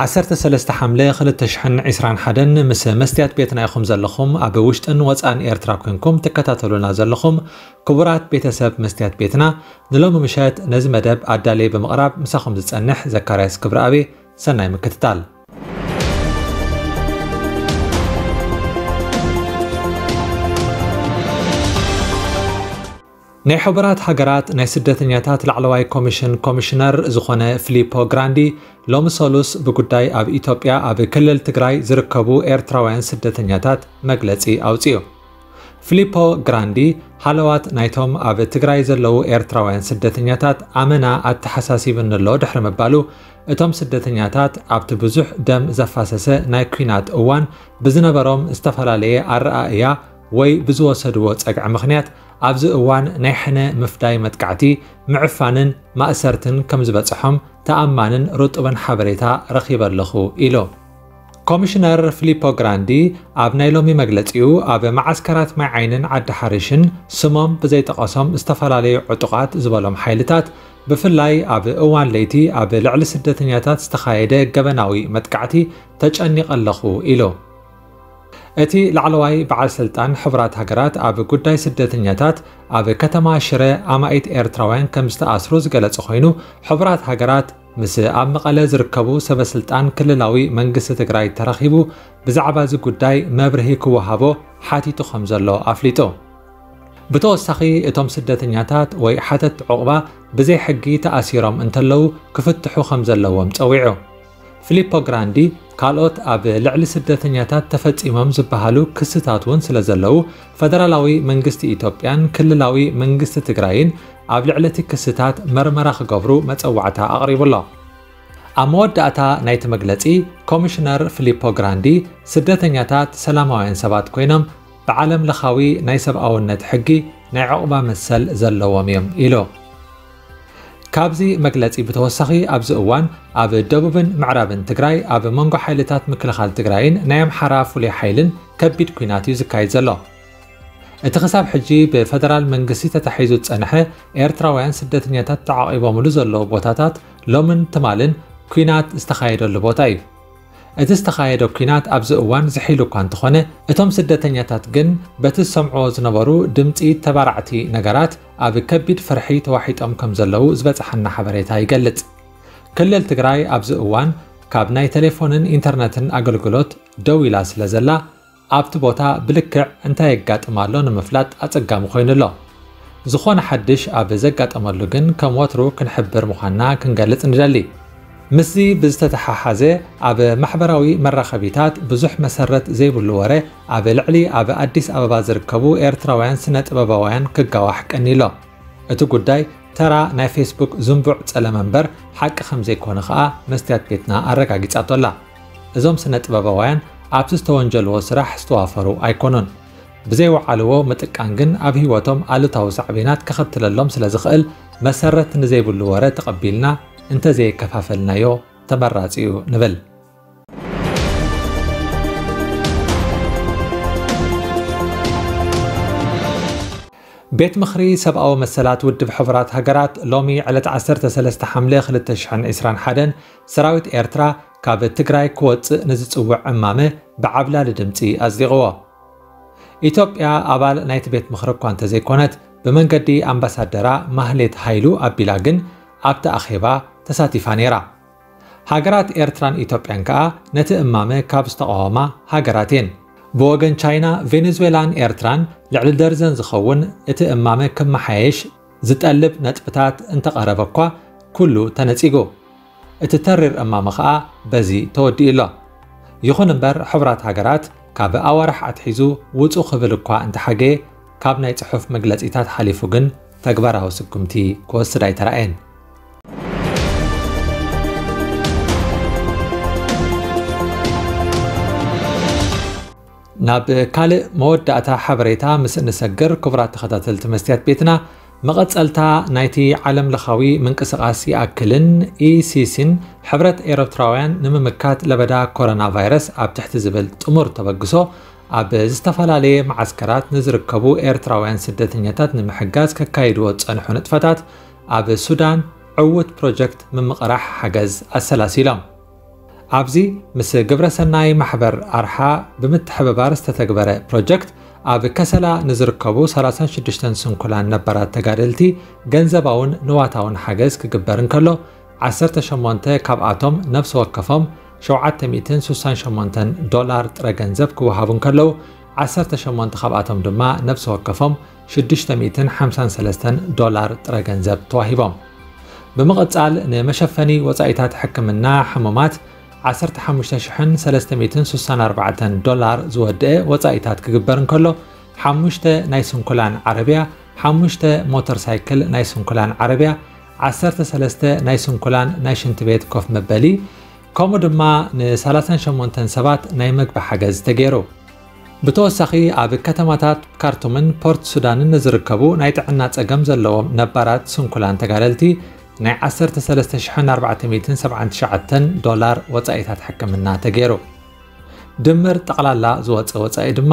ዓሰርተ ሰለስተ ሓምለ ክልተ ሽሕን ዕስራን ሓደን ምስ መስትያት ቤትና ኢኹም ዘለኹም፣ ኣብ ውሽጥን ወጻእን ኤርትራ ኮንኩም ትከታተሉና ዘለኹም ክቡራት ቤተሰብ መስትያት ቤትና፣ ንሎሚ ምሸት ነዚ መደብ ኣዳልየ ብምቕራብ ምሳኹም ዝጸንሕ ዘካርያስ ክብረኣብ። ሰናይ ምክትታል። ናይ ሕቡራት ሃገራት ናይ ስደተኛታት ላዕለዋይ ኮሚሽን ኮሚሽነር ዝኾነ ፊሊፖ ግራንዲ ሎሚ ሰሉስ ብጉዳይ ኣብ ኢትዮጵያ ኣብ ክልል ትግራይ ዝርከቡ ኤርትራውያን ስደተኛታት መግለጺ ኣውጺኡ። ፊሊፖ ግራንዲ ሃለዋት ናይቶም ኣብ ትግራይ ዘለዉ ኤርትራውያን ስደተኛታት ኣመና ኣተሓሳሲብኒ ኣሎ ድሕሪ ምባሉ፣ እቶም ስደተኛታት ኣብቲ ብዙሕ ደም ዘፋሰሰ ናይ ኲናት እዋን ብዝነበሮም ዝተፈላለየ ኣረኣእያ ወይ ብዝወሰድዎ ጸግዒ ምኽንያት ኣብዚ እዋን ናይ ሕነ ምፍዳይ መጥቃዕቲ፣ ምዕፋንን ማእሰርትን ከም ዝበጽሖም ተኣማንን ርጡብን ሓበሬታ ረኺበ ኣለኹ ኢሉ። ኮሚሽነር ፊሊፖ ግራንዲ ኣብ ናይ ሎሚ መግለጺኡ፣ ኣብ መዓስከራት ማይ ዓይንን ዓዲ ሓሪሽን ስሞም ብዘይጠቐሶም ዝተፈላለዩ ዕጡቓት ዝበሎም ሓይልታት፣ ብፍላይ ኣብ እዋን ለይቲ ኣብ ልዕሊ ስደተኛታት ዝተኻየደ ገበናዊ መጥቃዕቲ ተጨኒቐ ኣለኹ ኢሉ። እቲ ላዕለዋይ በዓል ስልጣን ሕቡራት ሃገራት ኣብ ጉዳይ ስደተኛታት ኣብ ከተማ ሽረ ኣማኢት ኤርትራውያን ከም ዝተኣስሩ ዝገለጸ ኮይኑ፣ ሕቡራት ሃገራት ምስ ኣብ መቐለ ዝርከቡ ሰበስልጣን ክልላዊ መንግስቲ ትግራይ ተራኺቡ ብዛዕባ እዚ ጉዳይ መብርሂ ክወሃቦ ሓቲቱ ከም ዘሎ ኣፍሊጡ። ብተወሳኺ፣ እቶም ስደተኛታት ወይ ሓተትቲ ዑቕባ ብዘይ ሕጊ ተኣሲሮም እንተለዉ ክፍትሑ ከም ዘለዎም ጸዊዑ። ፊሊፖ ግራንዲ ካልኦት ኣብ ልዕሊ ስደተኛታት ተፈጺሞም ዝበሃሉ ክስታት እውን ስለ ዘለዉ፣ ፈደራላዊ መንግስቲ ኢትዮጵያን ክልላዊ መንግስቲ ትግራይን ኣብ ልዕሊ እቲ ክስታት መርመራ ክገብሩ መጸዋዕታ ኣቕሪቡ ኣሎ። ኣብ መወዳእታ ናይቲ መግለጺ፣ ኮሚሽነር ፊሊፖ ግራንዲ፣ ስደተኛታት ሰላማውያን ሰባት ኮይኖም ብዓለም ለኻዊ ናይ ሰብኣውነት ሕጊ ናይ ዑቕባ መሰል ዘለዎም እዮም ኢሉ። ካብዚ መግለጺ ብተወሳኺ፣ ኣብዚ እዋን ኣብ ደቡብን ምዕራብን ትግራይ ኣብ መንጎ ሓይልታት ምክልኻል ትግራይን ናይ ኣምሓራ ፍሉይ ሓይልን ከቢድ ኲናት እዩ ዝካየድ ዘሎ። እቲ ክሳብ ሕጂ ብፈደራል መንግስቲ ተታሒዙ ዝጸንሐ ኤርትራውያን ስደተኛታት ተዓቒቦምሉ ዘለዉ ቦታታት ሎምን ትማልን ኲናት ዝተኻየደሉ ቦታ እዩ። እቲ ዝተኻየደ ኲናት ኣብዚ እዋን ዝሒሉ እኳ እንተኾነ፣ እቶም ስደተኛታት ግን በቲ ዝሰምዕዎ ዝነበሩ ድምጺ ተባራዕቲ ነገራት ኣብ ከቢድ ፍርሒ ተዋሒጦም ከም ዘለዉ ዝበጽሓና ሓበሬታ ይገልጽ። ክልል ትግራይ ኣብዚ እዋን ካብ ናይ ቴሌፎንን ኢንተርነትን ኣገልግሎት ደው ኢላ ስለ ዘላ፣ ኣብቲ ቦታ ብልክዕ እንታይ የጋጥም ኣሎ ንምፍላጥ ኣጸጋሚ ኮይኑ ኣሎ። ዝኾነ ሓድሽ ኣብ ዘጋጠመሉ ግን ከም ወትሩ ክንሕብር ምዃንና ክንገልጽ ንደሊ። ምስዚ ብዝተተሓሓዘ፣ ኣብ ማሕበራዊ መራኸቢታት ብዙሕ መሰረት ዘይብሉ ወረ ኣብ ልዕሊ ኣብ ኣዲስ ኣበባ ዝርከቡ ኤርትራውያን ስነ ጥበባውያን ክጋዋሕ ቀኒሎ። እቲ ጉዳይ ተራ ናይ ፌስቡክ ዝንቡዕ ጸለመ እምበር ሓቂ ከም ዘይኮነ ከኣ መስትያት ቤትና ኣረጋጊጻቶ ኣላ። እዞም ስነ ጥበባውያን ኣብቲ ዝተወንጀልዎ ስራሕ ዝተዋፈሩ ኣይኮኑን። ብዘይወዓልዎ ምጥቃን ግን ኣብ ህይወቶም ኣሉታዊ ሳዕቤናት ከኸትለሎም ስለ ዝኽእል፣ መሰረት ንዘይብሉ ወረ ተቐቢልና እንተዘየከፋፈልናዮ ተመራጺ እዩ ንብል። ቤት ምኽሪ ሰብኣዊ መሰላት ውድብ ሕቡራት ሃገራት ሎሚ ዕለት ዓሰርተ ሰለስተ ሓምለ ክልተ ሽሕን ዕስራን ሓደን ሰራዊት ኤርትራ ካብ ትግራይ ክወጽእ ንዝጽውዕ እማመ ብዓብላሊ ድምጺ ኣጽዲቕዎ። ኢትዮጵያ ኣባል ናይቲ ቤት ምኽሪ እኳ እንተዘይኮነት፣ ብመንገዲ ኣምባሳደራ ማህሌት ሃይሉ ኣቢላ ግን ኣብቲ ኣኼባ ተሳቲፋ ነይራ። ሃገራት ኤርትራን ኢትዮጵያን ከኣ ነቲ እማመ ካብ ዝተቓወማ ሃገራት እየን። ብወገን ቻይና፣ ቬኔዙዌላን ኤርትራን ልዕሊ ደርዘን ዝኸውን እቲ እማመ ክመሓየሽ ዝጠልብ ነጥብታት እንተቐረበ እኳ፣ ኩሉ ተነጺጉ። እቲ ተሪር እማመ ኸኣ በዚ ተወዲኡ ኣሎ። ይኹን እምበር፣ ሕቡራት ሃገራት ካብ ኣዋርሕ ኣትሒዙ ውጹ ክብል እኳ እንተሓገየ፣ ካብ ናይ ጽሑፍ መግለጺታት ሓሊፉ ግን ተግባራዊ ስጉምቲ ክወስድ ኣይተራእየን። ናብ ካልእ መወዳእታ ሓበሬታ ምስ እንሰግር፣ ክቡራት ተኸታተልቲ መስትያት ቤትና፣ መቐጸልታ ናይቲ ዓለም ለኻዊ ምንቅስቓስ ይኣክልን ኢሲሲን ሕብረት ኤርትራውያን ንምምካት ለበዳ ኮሮና ቫይረስ ኣብ ትሕቲ ዝብል ጥሙር ተበግሶ፣ ኣብ ዝተፈላለየ መዓስከራት ንዝርከቡ ኤርትራውያን ስደተኛታት ንምሕጋዝ ከካይድዎ ዝጸንሑ ንጥፈታት፣ ኣብ ሱዳን ዕዉት ፕሮጀክት ምምቕራሕ ሓገዝ ኣሰላሲሎም። ኣብዚ ምስ ግብረሰናይ ማሕበር ኣርሓ ብምትሕብባር ዝተተግበረ ፕሮጀክት ኣብ ከሰላ ንዝርከቡ ሰላሳን ሽዱሽተን ስንኩላን ነባራት ተጋደልቲ ገንዘባውን ንዋታውን ሓገዝ ክግበር እንከሎ፣ ዓሰርተ ሸሞንተ ካብኣቶም ነፍሲ ወከፎም ሸውዓተ ሚእትን ስሳን ሸሞንተን ዶላር ጥረ ገንዘብ ክወሃቡ እንከለዉ፣ ዓሰርተ ሸሞንተ ካብኣቶም ድማ ነፍሲ ወከፎም ሽዱሽተ ሚእትን ሓምሳን ሰለስተን ዶላር ጥረ ገንዘብ ተዋሂቦም። ብምቕጻል ንመሸፈኒ ወጻኢታት ሕክምና ሕሙማት ዓሰርተ ሓሙሽተ ሽሕን ሰለስተ ሚእትን ስሳን ኣርባዕተን ዶላር ዝወድአ ወጻኢታት ክግበር እንከሎ፣ ሓሙሽተ ናይ ስንኩላን ዓረብያ፣ ሓሙሽተ ሞተር ሳይክል ናይ ስንኩላን ዓረብያ፣ ዓሰርተ ሰለስተ ናይ ስንኩላን ናይ ሽንቲ ቤት ኮፍ መበሊ፣ ከምኡ ድማ ንሰላሳን ሸሞንተን ሰባት ናይ መግቢ ሓገዝ ተገይሩ። ብተወሳኺ ኣብ ከተማታት ካርቱምን ፖርት ሱዳንን ንዝርከቡ ናይ ጥዕና ጸገም ዘለዎም ነባራት ስንኩላን ተጋደልቲ ናይ ዓሰርተ ሰለስተ ሽሕን ኣርባዕተ ሚእትን ሰብዓን ትሽዓተን ዶላር ወጻኢታት ሕክምና ተገይሩ። ድምር ጠቕላላ ዝወጸ ወጻኢ ድማ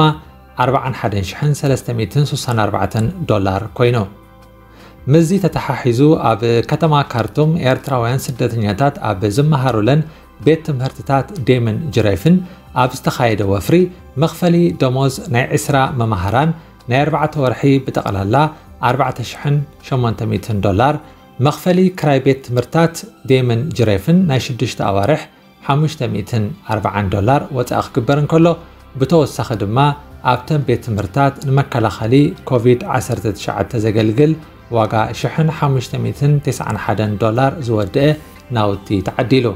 ኣርባዓን ሓደን ሽሕን ሰለስተ ሚእትን ስሳን ኣርባዕተን ዶላር ኮይኑ። ምስዚ ተተሓሒዙ ኣብ ከተማ ካርቱም ኤርትራውያን ስደተኛታት ኣብ ዝመሃሩለን ቤት ትምህርትታት ዴምን ጅሬፍን ኣብ ዝተኻየደ ወፍሪ መኽፈሊ ደሞዝ ናይ ዕስራ መማህራን ናይ ኣርባዕተ ወርሒ ብጠቕላላ ኣርባዕተ ሽሕን ሸሞንተ ሚእትን ዶላር፣ መኽፈሊ ክራይ ቤት ትምህርታት ዴምን ጅሬፍን ናይ ሽዱሽተ ኣዋርሕ ሓሙሽተ ሚእትን ኣርባዓን ዶላር ወጻኢ ክግበር እንከሎ፣ ብተወሳኺ ድማ ኣብተን ቤት ትምህርታት ንመከላኸሊ ኮቪድ ዓሰርተ ትሽዓተ ዘገልግል ዋጋ ሽሕን ሓሙሽተ ሚእትን ተስዓን ሓደን ዶላር ዝወድአ ናውቲ ተዓዲሉ።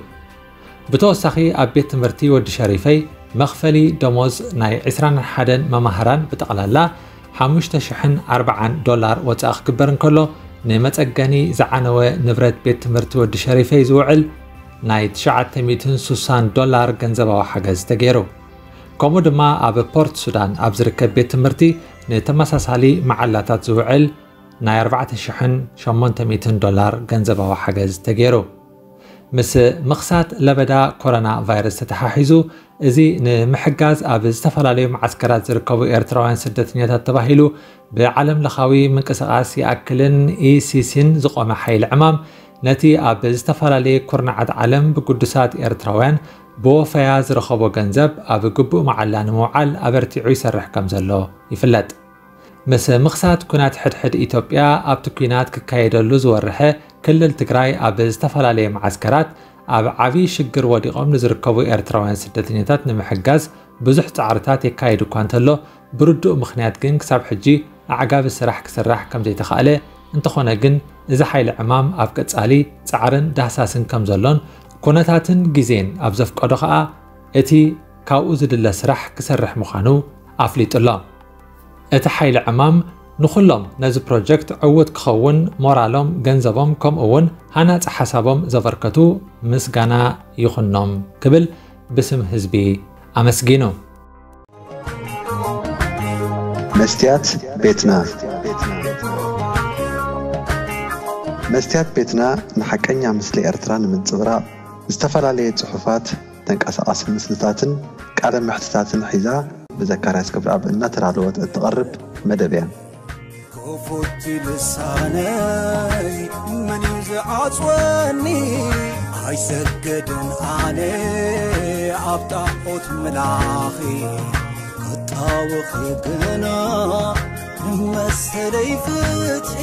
ብተወሳኺ ኣብ ቤት ትምህርቲ ወዲ ሸሪፈይ መኽፈሊ ደሞዝ ናይ ዕስራን ሓደን መማህራን ብጠቕላላ ሓሙሽተ ሽሕን ኣርባዓን ዶላር ወጻኢ ክግበር እንከሎ፣ ንመጸገኒ ዝዓነወ ንብረት ቤት ትምህርቲ ወዲ ሸሪፈይ ዝውዕል ናይ ትሽዓተ ሚእትን ስሳን ዶላር ገንዘባዊ ሓገዝ ተገይሩ። ከምኡ ድማ ኣብ ፖርት ሱዳን ኣብ ዝርከብ ቤት ትምህርቲ ንተመሳሳሊ መዓላታት ዝውዕል ናይ ኣርባዕተ ሽሕን ሸሞንተ ሚእትን ዶላር ገንዘባዊ ሓገዝ ተገይሩ። ምስ ምኽሳት ለበዳ ኮሮና ቫይረስ ተተሓሒዙ፣ እዚ ንምሕጋዝ ኣብ ዝተፈላለዩ መዓስከራት ዝርከቡ ኤርትራውያን ስደተኛታት ተባሂሉ ብዓለም ለኻዊ ምንቅስቓስ ይኣክልን ኢሲሲን ዝቖመ ሓይሊ ዕማም፣ ነቲ ኣብ ዝተፈላለየ ኩርናዓት ዓለም ብግዱሳት ኤርትራውያን ብወፈያ ዝረኸቦ ገንዘብ ኣብ ግቡእ መዓላ ንምውዓል ኣበርቲዑ ይሰርሕ ከም ዘሎ ይፍለጥ። ምስ ምኽሳት ኩናት ሕድሕድ ኢትዮጵያ፣ ኣብቲ ኩናት ክካየደሉ ዝወረሐ ክልል ትግራይ ኣብ ዝተፈላለየ መዓስከራት ኣብ ዓብዪ ሽግር ወዲቖም ንዝርከቡ ኤርትራውያን ስደተኛታት ንምሕጋዝ ብዙሕ ጻዕርታት የካይድ እኳ እንተሎ፣ ብርዱእ ምኽንያት ግን ክሳብ ሕጂ ኣዕጋቢ ስራሕ ክስራሕ ከም ዘይተኻእለ፣ እንተኾነ ግን እዚ ሓይሊ ዕማም ኣብ ቀጻሊ ጻዕርን ዳህሳስን ከም ዘሎን፣ ኩነታትን ግዜን ኣብ ዘፍቀዶ ከኣ እቲ ካብኡ ዝድለ ስራሕ ክሰርሕ ምዃኑ ኣፍሊጡ ኣሎ። እቲ ሓይሊ ዕማም ንኹሎም ነዚ ፕሮጀክት ዕዉት ክኸውን ሞራሎም፣ ገንዘቦም፣ ከምኡ እውን ሃናጺ ሓሳቦም ዘበርከቱ ምስጋና ይኹኖም ክብል ብስም ህዝቢ ኣመስጊኑ። መስትያት ቤትና። መስትያት ቤትና ንሓቀኛ ምስሊ ኤርትራ ንምንጽብራቕ ዝተፈላለየ ጽሑፋት፣ ተንቀሳቓሲ ምስልታትን ቃለ መሕትታትን ሒዛ ብዘካርያስ ክብረኣብ እናተዳለወት እትቐርብ መደብ እያ። ክፉት ልሳነይ መን እዩ ዝዓጽወኒ? ኣይሰገድን ኣነ ኣብ ጣዖት ምላኺ፣ ክጣወኺ ግና ንመሰለይ ፍትሒ።